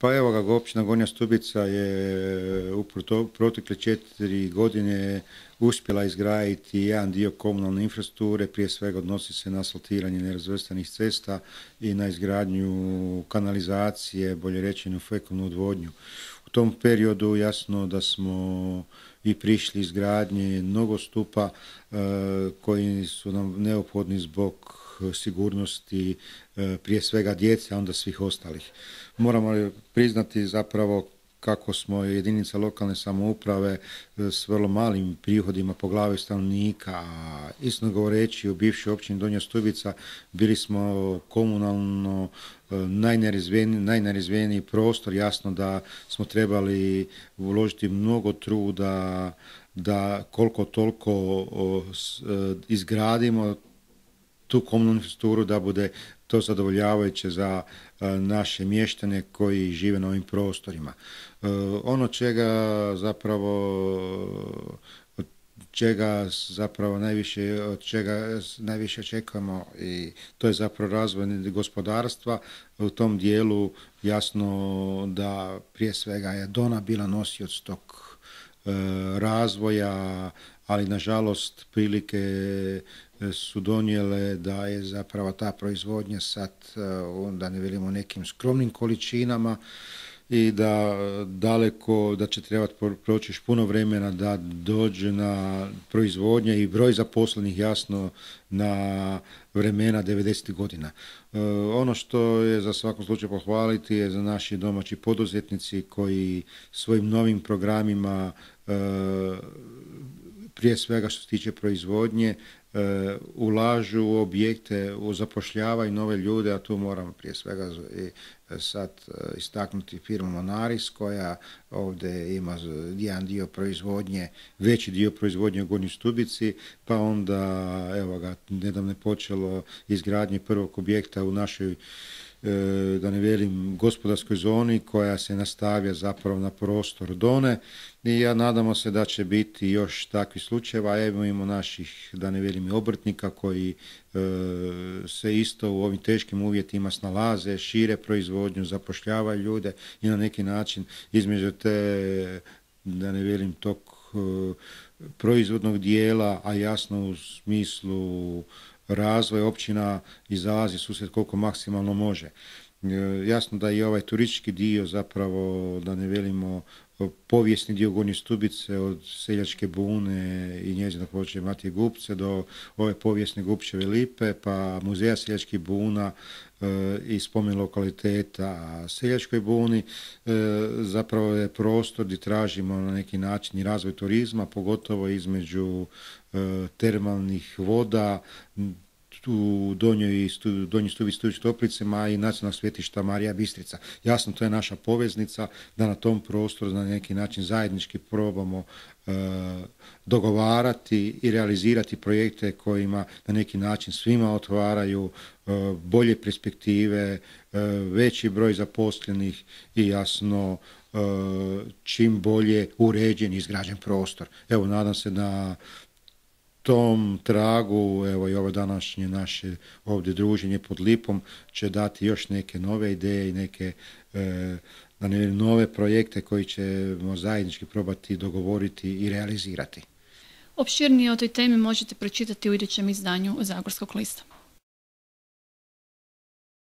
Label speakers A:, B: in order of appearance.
A: Pa evo ga, općina Gornja Stubica je u protekle 4 godine uspjela izgraditi jedan dio komunalne infrastrukture, prije svega odnosi se na asfaltiranje nerazvrstanih cesta i na izgradnju kanalizacije, bolje rečeno fekalnu odvodnju. U tom periodu jasno da smo i prišli izgradnje nogostupa koji su nam neophodni zbog sigurnosti prije svega djece, a onda svih ostalih. Moramo priznati zapravo kako smo jedinica lokalne samouprave s vrlo malim prihodima po glavi stanovnika, a istino govoreći u bivšoj općini Donja Stubica bili smo komunalno najnerazvijeniji prostor, jasno da smo trebali uložiti mnogo truda da koliko toliko izgradimo tu komunalnu infrastrukturu da bude to zadovoljavajuće za naše mještane koji žive na ovim prostorima. Ono čega zapravo najviše očekujemo i to je zapravo razvoj gospodarstva. U tom dijelu jasno da prije svega je Dona bila nosioc tog razvoja, ali nažalost prilike su donijele da je zapravo ta proizvodnja sad, da ne velimo nekim skromnim količinama i da će trebati proći još puno vremena da dođe na proizvodnja i broj zaposlenih jasno na vremena 90. godina. Ono što je za svakom slučaju pohvaliti je za naši domaći poduzetnici koji svojim novim programima prije svega što se tiče proizvodnje ulažu u objekte, zapošljavaju nove ljude, a tu moramo prije svega sad istaknuti firmu Monaris koja ovdje ima jedan dio proizvodnje, veći dio proizvodnje u Gornjoj Stubici, pa onda evo ga, nedavno je počelo izgradnje prvog objekta u našoj da ne velim gospodarskoj zoni koja se nastavlja zapravo na prostor Done i ja nadamo se da će biti još takvih slučajeva. Evo imamo naših, da ne velim, obrtnika koji se isto u ovim teškim uvjetima snalaze, šire proizvodnju, zapošljavaju ljude i na neki način između te, da ne velim, tog proizvodnog dijela, a jasno u smislu razvoj općina izlazi susret koliko maksimalno može. Jasno da i ovaj turistički dio zapravo, da ne velimo, povijesni dio Gornje Stubice od Seljačke bune i njezina područja Matije Gupce do ove povijesne Gupčeve lipe, pa muzeja Seljačkih buna i spomen lokaliteta Seljačkoj buni, zapravo je prostor gdje tražimo na neki način i razvoj turizma, pogotovo između termalnih voda, u Donjoj Stubici Toplicama i nacionalnog svetišta Marija Bistrica. Jasno, to je naša poveznica da na tom prostoru na neki način zajednički probamo dogovarati i realizirati projekte kojima na neki način svima otvaraju bolje perspektive, veći broj zaposlenih i jasno čim bolje uređen i izgrađen prostor. Evo, nadam se da tom tragu, evo i ovo današnje naše ovdje druženje pod lipom će dati još neke nove ideje i neke nove projekte koji ćemo zajednički probati dogovoriti i realizirati.
B: Opširnije o toj temi možete pročitati u idućem izdanju Zagorskog lista.